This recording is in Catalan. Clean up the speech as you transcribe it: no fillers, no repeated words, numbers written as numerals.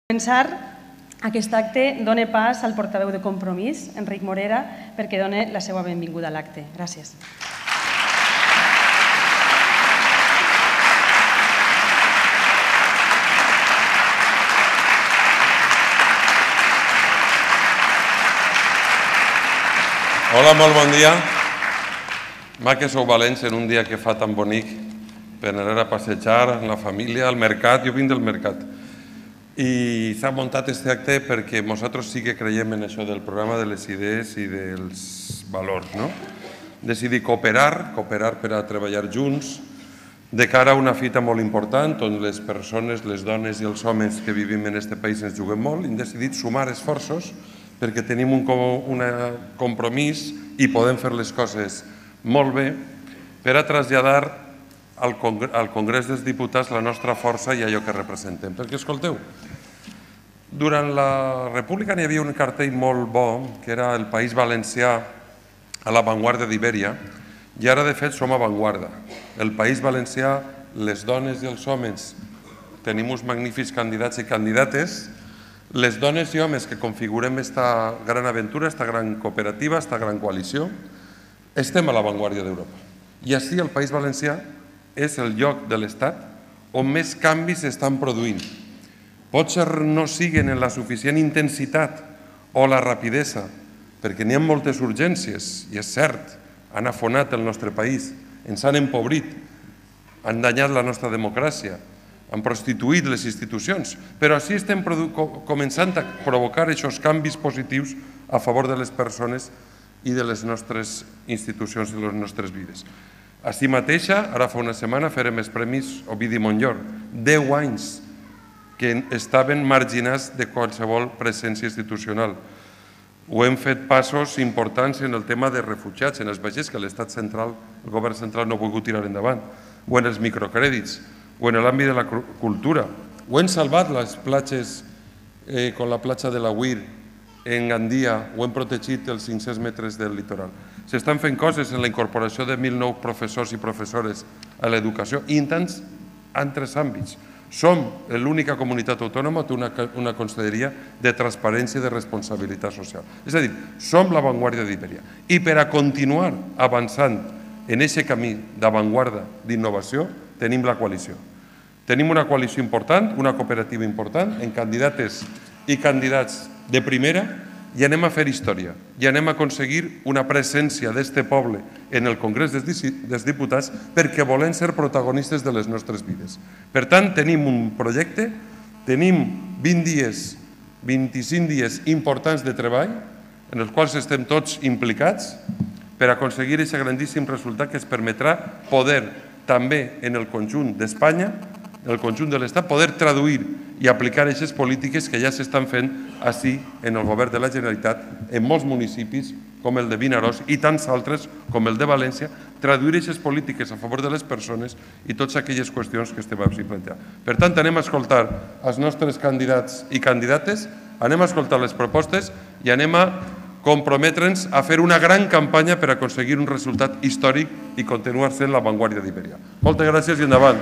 començar, aquest acte dona pas al portaveu de Compromís, Enric Morera, perquè doni la seva benvinguda a l'acte. Gràcies. Hola, molt bon dia. Ma que sou valents en un dia que fa tan bonic per anar a passejar amb la família, al mercat. Jo vinc del mercat. I s'ha muntat aquest acte perquè nosaltres sí que creiem en això del programa de les idees i dels valors. Decidir cooperar per a treballar junts de cara a una fita molt important on les persones, les dones i els homes que vivim en aquest país ens juguem molt i hem decidit sumar esforços perquè tenim un compromís i podem fer les coses molt bé per a traslladar al Congrés dels Diputats la nostra força i allò que representem. Perquè, escolteu, durant la República n'hi havia un cartell molt bo, que era el País Valencià a l'avantguarda d'Ibèria, i ara, de fet, som avantguarda. El País Valencià, les dones i els homes, tenim uns magnífics candidats i candidates. Les dones i homes que configurem aquesta gran aventura, aquesta gran cooperativa, aquesta gran coalició, estem a l'avantguarda d'Europa. I així el País Valencià és el lloc de l'Estat on més canvis s'estan produint. Potser no siguen en la suficient intensitat o la rapidesa, perquè n'hi ha moltes urgències, i és cert, han afonat el nostre país, ens han empobrit, han danyat la nostra democràcia, han prostituït les institucions, però així estem començant a provocar aquests canvis positius a favor de les persones i de les nostres institucions i les nostres vides. Així mateixa, ara fa una setmana farem els Premis Ovidi Montllor, 10 anys que estaven marginats de qualsevol presència institucional. Ho hem fet passos importants en el tema de refugiats, en els vaixells que l'Estat central, el govern central no ha volgut tirar endavant, o en els microcrèdits, o en l'àmbit de la cultura. Ho hem salvat les platges, com la platja de la Huir, en Gandia, ho hem protegit els 500 metres del litoral. S'estan fent coses en la incorporació de 1.000 nous professors i professores a l'educació i en tants altres àmbits. Som l'única comunitat autònoma que té una conselleria de transparència i de responsabilitat social. És a dir, som l'avantguarda d'Ibèria. I per a continuar avançant en aquest camí d'avantguarda d'innovació, tenim la coalició. Tenim una coalició important, una cooperativa important, en candidates i candidats de primera, i anem a fer història, i anem a aconseguir una presència d'aquest poble en el Congrés dels Diputats perquè volem ser protagonistes de les nostres vides. Per tant, tenim un projecte, tenim 20 dies, 25 dies importants de treball en els quals estem tots implicats per aconseguir aquest grandíssim resultat que ens permetrà poder també en el conjunt d'Espanya, en el conjunt de l'Estat, poder traduir i aplicar aquestes polítiques que ja s'estan fent així en el govern de la Generalitat, en molts municipis com el de Vinaròs i tants altres com el de València, traduir aquestes polítiques a favor de les persones i totes aquelles qüestions que estem així plantejant. Per tant, anem a escoltar els nostres candidats i candidates, anem a escoltar les propostes i anem a comprometre'ns a fer una gran campanya per aconseguir un resultat històric i continuar sent l'avantguarda d'Ibèria. Moltes gràcies i endavant.